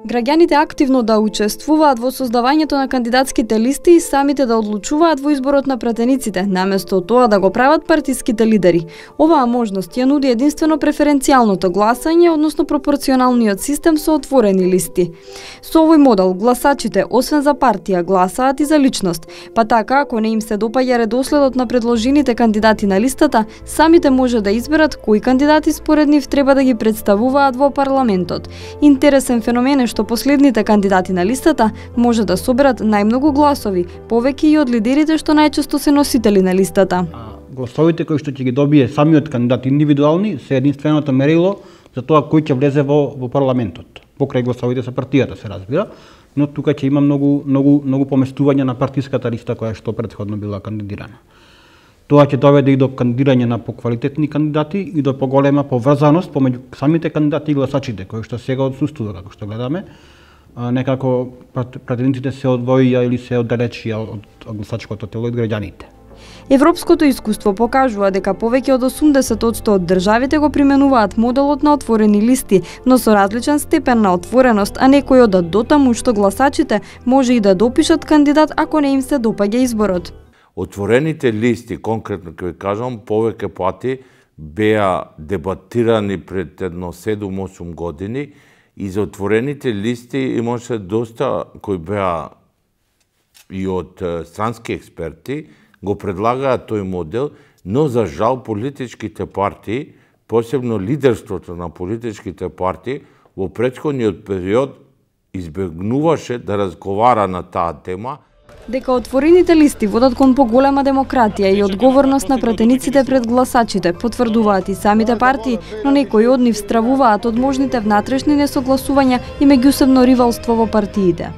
Граѓаните активно да учествуваат во создавањето на кандидатските листи и самите да одлучуваат во изборот на пратениците, наместо тоа да го прават партиските лидери. Оваа можност ја нуди единствено преференцијалното гласање, односно пропорционалниот систем со отворени листи. Со овој модел гласачите, освен за партија, гласаат и за личност, па така, ако не им се допаѓа редоследот на предложените кандидати на листата, самите може да изберат кои кандидати според нив треба да ги представуваат во парламентот. Интересен феномен е што последните кандидати на листата може да соберат најмногу гласови, повеќе и од лидерите што најчесто се носители на листата. Гласовите кои што ќе ги добие самиот кандидат индивидуални се единственото мерило за тоа кој ќе влезе во парламентот. Покрај гласовите за партијата се разбира, но тука ќе има многу поместување на партиската листа која што претходно била кандидирана. Тоа ќе доведе и до кандидирање на поквалитетни кандидати и до поголема поврзаност помеѓу самите кандидати и гласачите, кои што сега отсуствува, како што гледаме. Некако пратениците се одвоија или се оддалечија од гласачкото тело и од граѓаните. Европското искуство покажува дека повеќе од 80% од државите го применуваат моделот на отворени листи, но со различен степен на отвореност, а некои одат дотаму што гласачите може и да допишат кандидат ако не им се допаѓа изборот. Отворените листи, конкретно ќе ви кажам, повеќе пати беа дебатирани пред едно 7-8 години и за отворените листи имаше доста кои беа и од странски експерти, го предлагаат тој модел, но за жал политичките партии, посебно лидерството на политичките партии, во претходниот период избегнуваше да разговара на таа тема. Дека отворените листи водат кон поголема демократија и одговорност на пратениците пред гласачите, потврдуваат и самите партии, но некои од нив стравуваат од можните внатрешни несогласувања и меѓусебно ривалство во партиите.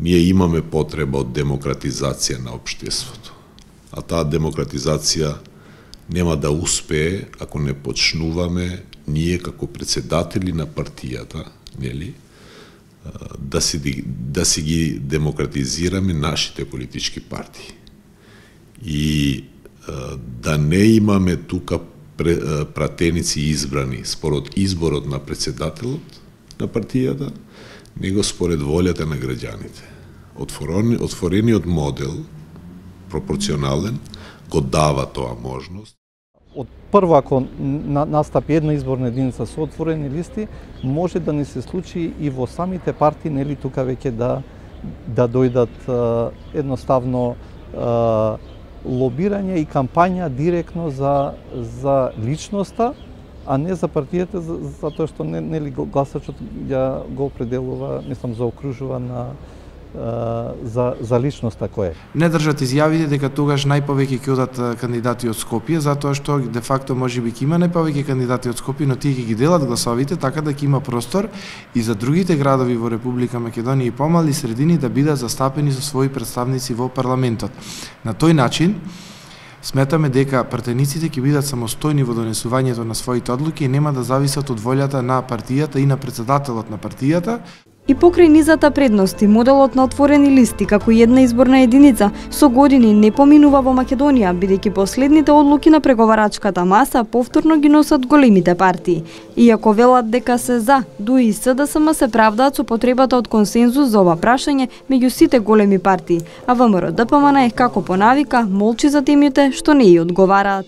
Ние имаме потреба од демократизација на општеството, а таа демократизација нема да успее ако не почнуваме ние како председатели на партијата, нели, да си ги демократизираме нашите политички партии. И да не имаме тука пратеници избрани според изборот на председателот на партијата, него според волјата на граѓаните. Отворениот модел, пропорционален, го дава тоа можност. Од прво, ако настапи една изборна единица со отворени листи, може да не се случи и во самите партии, нели тука веќе да дојдат едноставно лобирање и кампања директно за личноста, а не за партијата, затоа што нели гласачот ја го определува, мислам, заокружува за личноста кој е. Не држат изјавите дека тогаш најповеќе ќе одат кандидати од Скопје, затоа што де факто можеби ќе има најповеќе кандидати од Скопје, но тие ќе ги делат гласовите така да ќе има простор и за другите градови во Република Македонија и помали средини да бидат застапени со своји представници во парламентот. На тој начин сметаме дека пратениците ќе бидат самостојни во донесувањето на своите одлуки и нема да зависат од волјата на партијата и на председателот на партијата. И покрај низата предности, моделот на отворени листи како една изборна единица со години не поминува во Македонија, бидејќи последните одлуки на преговарачката маса повторно ги носат големите партии. Иако велат дека се за, ДУИ и СДСМ се правдаат со потребата од консензус за ова прашање меѓу сите големи партии, а ВМРО ДПМН како по навика молчи за темите што не ја одговараат.